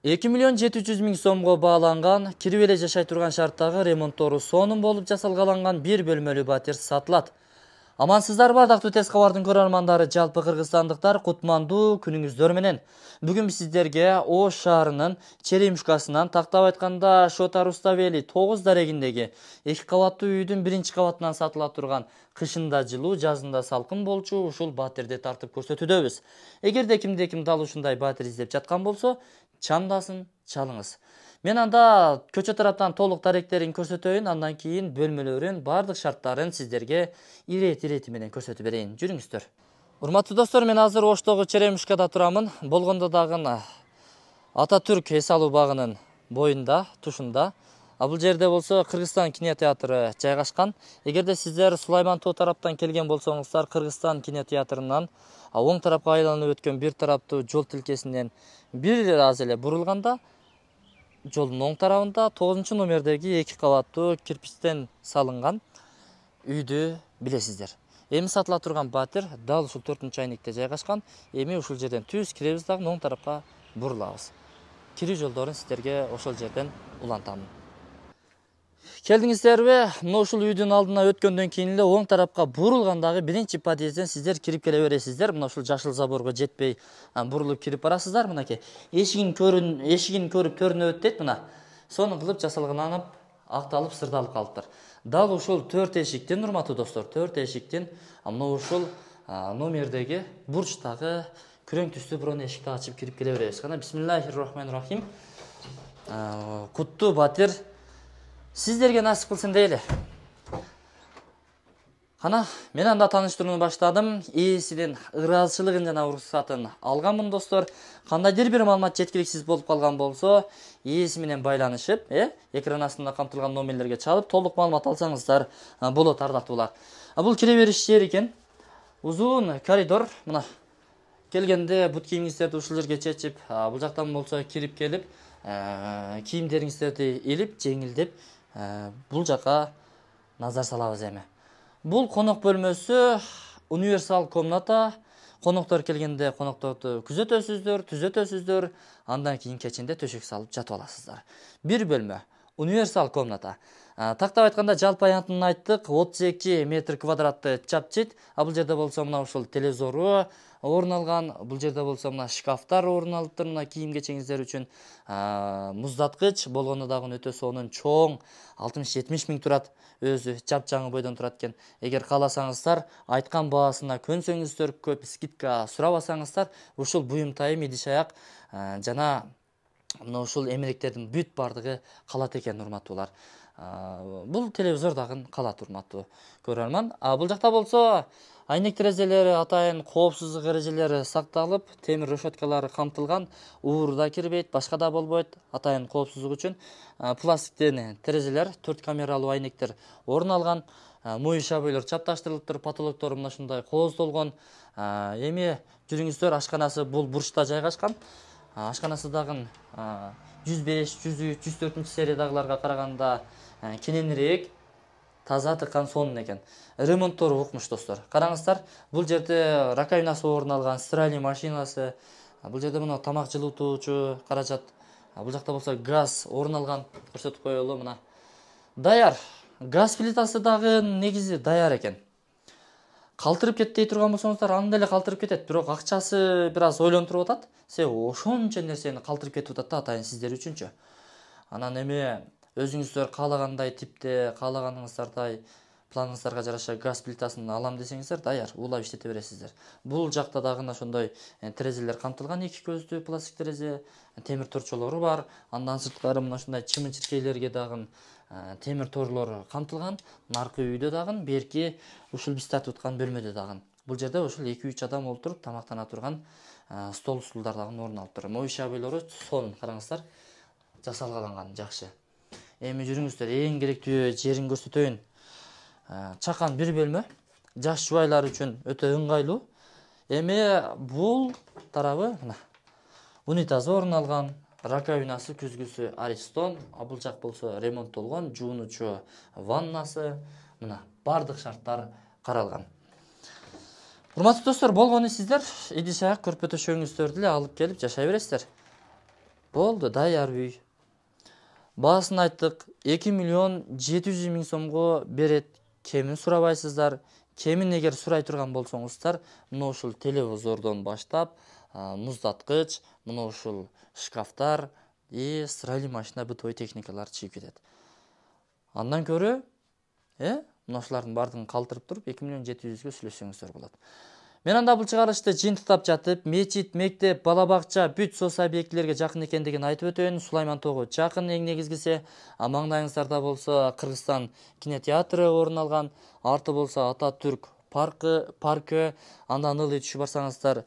2 миллион 700 миң сомго бааланган, кирип эле жашай турган шарттагы ремонттору сонун болуп жасалгаланган бир бөлмөлүү батир сатылат. Амансыздарбы ардактуу тез кабардын көрөрмандары, жалпы кыргызстандыктар, кутмандуу күнүңүздөр менен. Бүгүн биз сиздерге Ош шаарынын Черемушкасынан, тактап айтканда Шота Руставели 9 дарегиндеги 2 кабаттуу үйдүн 1-кабатынан сатыла турган кышында жылуу, жазында салкын болчу ушул батирди тартып көрсөтүүдөбүз. Эгерде кимде-ким дал ушундай батир издеп жаткан болсо, чамдасын, чалыңыз. Мен анда көчө тараптан толук даректерин көрсөтөйүн, андан кийин бөлмөлөрүн, бардык шарттарын сиздерге ирети менен көрсөтүп берейин. Жүрүңүздөр. Урматтуу достор, мен азыр Оштогу Черемушкада турамын. Болгондо дагы Ататүрк эс алуу багынын боюнда, тушунда. Бул жерде болсо Кыргызстан кинотеатры жайгашкан. Эгерде сиздер Сулайман Тоо тараптан келген болсоңуздар, Кыргызстан кинотеатрынан оң тарапка айланып өткөн бир тараптуу жол тилкесинен бир аз эле бурулганда, жолдун оң тарабында 9 номердеги 2 кабаттуу кирпичтен салынган үйдү билесиздер. Эми сатыла турган батир дал ушул 4-айникте жайгашкан. Эми ушул жерден түз киребиз дагы оң тарапка бурулабыз. Кирүү жолдорун сиздерге ошол жерден улантамын. Келдиңиздерби? Мына ушул үйдүн алдына өткөндөн кийин эле оң тарапка бурулгандагы 1-подъезден сиздер кирип келе бересиздер. Мына ушул жашыл заборго жетпей бурулуп кирип барасыздар. Мынакей эшигин көрүп төрүнөбөт дейт мына. Сону кылып жасалганып, акталып, сырдалып калыптыр. Дал ушул 4 эшиктин, урматтуу достор, 4 эшиктин мына ушул номердеги бурчтагы күрөң түстүү бирок эшикти ачып кирип келе беребиз. Кана бисмиллахир-рахманир-рахим. Куттуу батир сиздерге насип кылсын дейли. Кана, мен анда тааныштырууну баштадым. Ээсинин ыраазычылыгын жана уруксатын алганмын, достор. Кандайдыр бир маалымат жеткиликсиз болуп калган болсо, ээси менен байланышып, экран астында камтылган номерлерге чалып, толук маалымат алсаңыздар болот, ардактуулар. Бул кире бериш жери экен. Узун коридор, мына. Келгенде бут кийимиңиздерди ушул жерге чечип, бул жактан болсо кирип келип, кийимдериңиздерди илип, жеңилдеп, бул жака назар салабыз эми. Бул конок бөлмөсү, универсал комната. Коноктор келгенде конокторду күзөтөсүздөр, түзөтөсүздөр, андан кийин кечинде төшөк салып жатып аласыздар. Бир бөлмө, универсал комната. Тактап айтканда жалпы аянтын айттык, 32 метр квадратты чапчит. Бул жерде болсо мына ушул телевизору орун алган, бул жерде болсо мына шкафтар орун алыптыр, мына кийим кечеңиздер үчүн муздаткыч, болгондо дагы өтө сонун чоң 60-70 миң турат. Өзү чапчаңы бойдон турат экен. Эгер кааласаңыздар, айткан баасына көнсөңүздөр, көп скидка сурабасаңыздар, ушул буюм-тайым, идиш-аяк жана мына ушул эмеректердин бүт бардыгы калат экен, урматтуулар. Бул телевизор дагы калат, урматтуу көрөрман. Бул жакта болсо айнек терезелери, атайын коопсуздук эрежелери сакталып, темир решеткалары камтылган, уур да кирбейт, башка да болбойт, атайын коопсуздук үчүн. Пластиктен терезелер, 4 камералуу айнектер орун алган, моюш абойлор чапташтырылыптыр, потолоктору мына ушундай кооздолгон. Эми жүрүңүздөр, ашканасы бул бурчта жайгашкан. Ашканасы дагы 105, 103, 104 сериядагыларга караганда кененирээк, таза, тыккан, сонун экен. Ремонттору укмуш, достор. Караңыздар, бул жерде раковинасы орун алган, стиральный машинасы, бул жерде мына тамак жылытуучу каражат, бул жакта болсо газ орун алган, көрсөтүп коелу, мына. Даяр. Газ плитасы дагы негизи даяр экен. Калтырып кетти турган болсоңуздар, анда эле калтырып кетет, бирок акчасы бир аз ойлонтуруп атат. Себеби ошончо нерсени калтырып кетип атат да, атайын сиздер үчүнчү. Анан эми өзүңүздөр каалагандай типте, каалаганыңыздардай планыңыздарга жараша газ плитасын алам десеңиздер, даяр, улап иштете бересиздер. Бул жакта дагы ошондой терезелер камтылган, 2 көздүү пластик терезе, темир торчолору бар. Андан сырткары мына ушундай чымын-чиркейлерге дагы темир торлор камтылган. Наркы үйдө дагы, берки ушул биз тартып аткан бөлмөдө дагы. Бул жерде ушул 2-3 адам олтуруп тамактана турган стол стулдар дагы орун алыптыр. Моюш абойлору сонун, караңыздар, жасалгаланган, жакшы. Эми жүрүңүздөр, эң керектүү жерин көрсөтөйүн. Чакан бир бөлмө, жаш жубайлар үчүн өтө ыңгайлуу. Эми бул тарабы мына унитазы орун алган, раковинасы, күзгүсү Аристон, бул жак болсо ремонттолгон, жуунучу ваннасы, мына бардык шарттар каралган. Урматтуу достор, болгону сиздер идиш-аяк көрпө төшөгүңүздөрдү эле алып келип жашай бересиздер. Болду, даяр үй. Баасын айттык, 2,7 миллион сомго берет. Кемин сурабайсыздар. Кемин эгер сурай турган болсоңуздар, мына ушул телевизордон баштап, муздаткыч, мына ушул шкафтар и стиральный машина, бытовой техникалар чыгып кетет. Андан көрө, мына ушулардын баардыгын калтырып туруп 2,7 миллионго сүйлөшсөңүздөр болот. Мен анда бул чыгарылышты жыйынтыктап жатып, мечит, мектеп, бала бакча, бүт соц объектилерге жакын экендигин айтып өтөйүн. Сулайман тогу жакын, эң негизгиси. Маңдайыңыздарда болсо Кыргызстан кинотеатры орун алган, арты болсо Ататүрк паркы, андан ылый түшүп барсаңыздар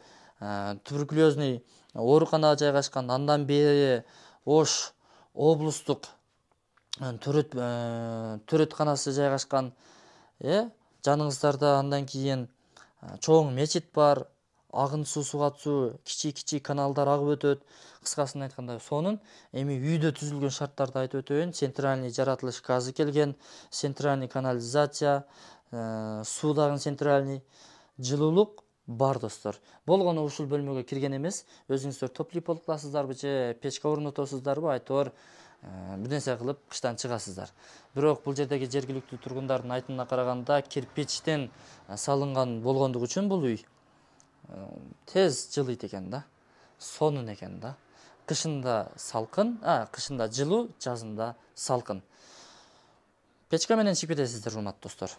туберкулезный оорукана жайгашкан, андан бери Ош облустук төрөтканасы жайгашкан, жаныңыздарда. Андан кийин чоң мечит бар, агын суу, сугат суу, кичи каналдар агып өтөт. Кыскасын айтканда, сонун эми үйдө түзүлгөн шарттарды айтып өтөйүн. Центральный жаратылыш газы келген, центральный канализация, суу дагы центральный, жылуулук бар достор. Болгону ушул бөлмөгө кирген эмес, өзүңүздөр топлый болуп каласыздарбы же печка орнотосуздарбы, айтор бир нерсе кылып кыштан чыгасыздар. Бирок бул жердеги жергиликтүү тургундардын айтымына караганда, кирпичтен салынган болгондугу үчүн бул үй тез жылыйт экен да, сонун экен да. Кышында салкын, кышында жылуу, жазында салкын. Печка менен чыгып кетесиздер, урматтуу достор.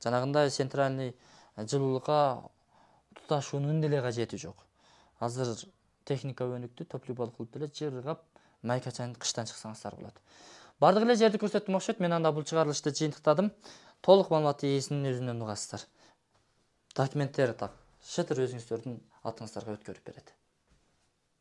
Жанагындай центральный жылуулукка туташуунун деле кажети жок. Азыр техника өнүктү, топлый болуп кылып деле жыргап майка чайын кыштан чыксаңыздар болот. Бардык эле жерди көрсөттүм окшойт. Мен анда бул чыгарылышты жыйынтыктадым. Толук маалыматты ээсинин өзүнөн угасыздар. Документтер так шытыр өзүңүздөрдүн атыңыздарга өткөрүп берет.